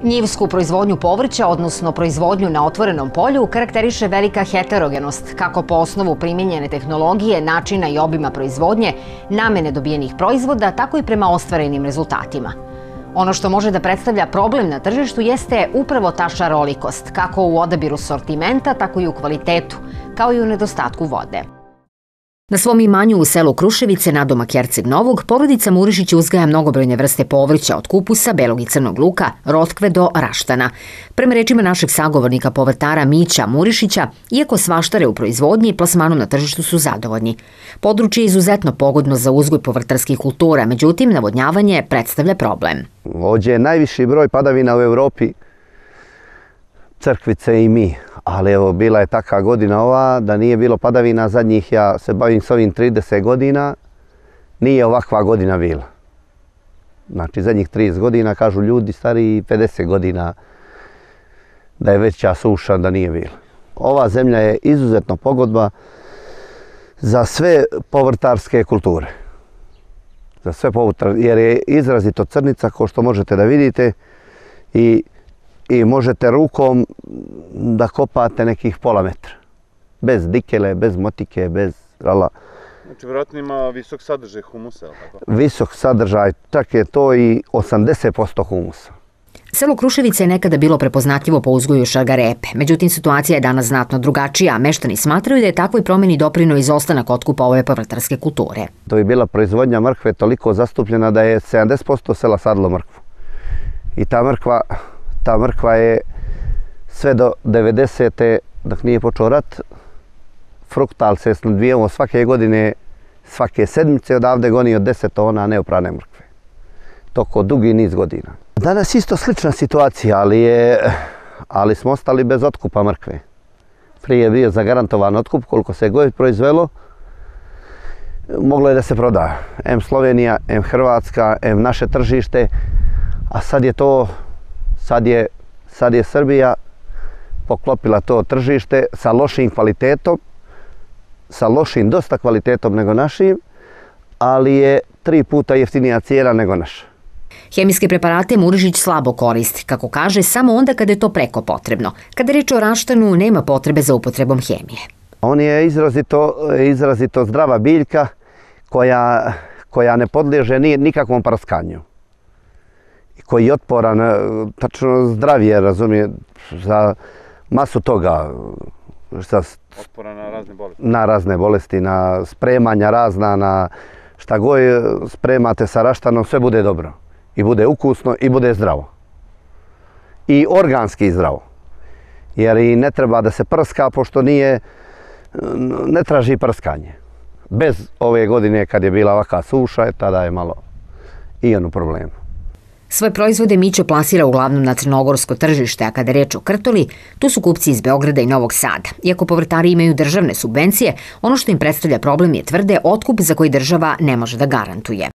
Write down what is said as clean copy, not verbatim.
Njivsku proizvodnju povrća, odnosno proizvodnju na otvorenom polju, karakteriše velika heterogenost, kako po osnovu primijenjene tehnologije, načina i obima proizvodnje, namene dobijenih proizvoda, tako i prema ostvarenim rezultatima. Ono što može da predstavlja problem na tržištu jeste upravo ta šarolikost, kako u odabiru sortimenta, tako i u kvalitetu, kao i u nedostatku vode. Na svom imanju u selu Kruševice, nadomak Herceg Novog, porodica Murišić uzgaja mnogobrojne vrste povrća od kupusa, belog i crnog luka, rotkve do raštana. Prema rečima našeg sagovornika povrtara Mića Murišića, iako svaštare u proizvodnji i plasmanom na tržištu su zadovoljni. Područje je izuzetno pogodno za uzgoj povrtarskih kultura, međutim, navodnjavanje predstavlja problem. Ovdje je najviši broj padavina u Evropi, Crkvice i mi. Ali evo, bila je takva godina ova da nije bilo padavina zadnjih, ja se bavim s ovim 30 godina, nije ovakva godina bila. Znači, zadnjih 30 godina, kažu ljudi stariji 50 godina, da je veća suša, da nije bila. Ova zemlja je izuzetno pogodba za sve povrtarske kulture. Za sve jer je izrazito crnica, kao što možete da vidite, i možete rukom da kopate nekih pola metra. Bez dikele, bez motike, bez rala. Znači, vjerojatno ima visok sadržaj humusa, ili tako? Visok sadržaj, čak je to i 80% humusa. Selo Kruševice je nekada bilo prepoznatljivo po uzgoju šargarepe, međutim situacija je danas znatno drugačija, a meštani smatraju da je takvoj promjeni doprineo izostanak otkupa ove povrtarske kulture. To je bila proizvodnja mrkve toliko zastupljena da je 70% sela sadilo mrkvu. I ta mrkva je sve do 90. dok nije počeo rat, fruktal se snadbijamo svake godine, svake sedmice odavde goni od 10 tona neoprane mrkve. Toko dugi niz godina. Danas isto slična situacija, ali smo ostali bez otkupa mrkve. Prije je bio zagarantovan otkup, koliko se god proizvelo, moglo je da se proda. M Slovenija, M Hrvatska, M naše tržište, a sad je Srbija poklopila to tržište sa lošim kvalitetom, sa lošim dosta kvalitetom nego našim, ali je 3 puta jeftinija cijena nego naša. Hemijske preparate Murišić slabo koristi, kako kaže, samo onda kada je to preko potrebno. Kada je reč o raštanu, nema potrebe za upotrebom hemije. On je izrazito zdrava biljka koja ne podliježe nikakvom praskanju. Koji je otporan, tačno zdravije, razumije, za masu toga. Otporan na razne bolesti? Na razne bolesti, na spremanja razna, na šta god spremate sa raštanom, sve bude dobro. I bude ukusno i bude zdravo. I organski zdravo. Jer i ne treba da se prska, pošto ne traži prskanje. Bez ove godine kad je bila ovakva suša, tada je malo i on u problemu. Svoje proizvode Mićo plasira uglavnom na crnogorsko tržište, a kada je reč o krtoli, tu su kupci iz Beograda i Novog Sada. Iako povrtari imaju državne subvencije, ono što im predstavlja problem je tvrde otkup za koji država ne može da garantuje.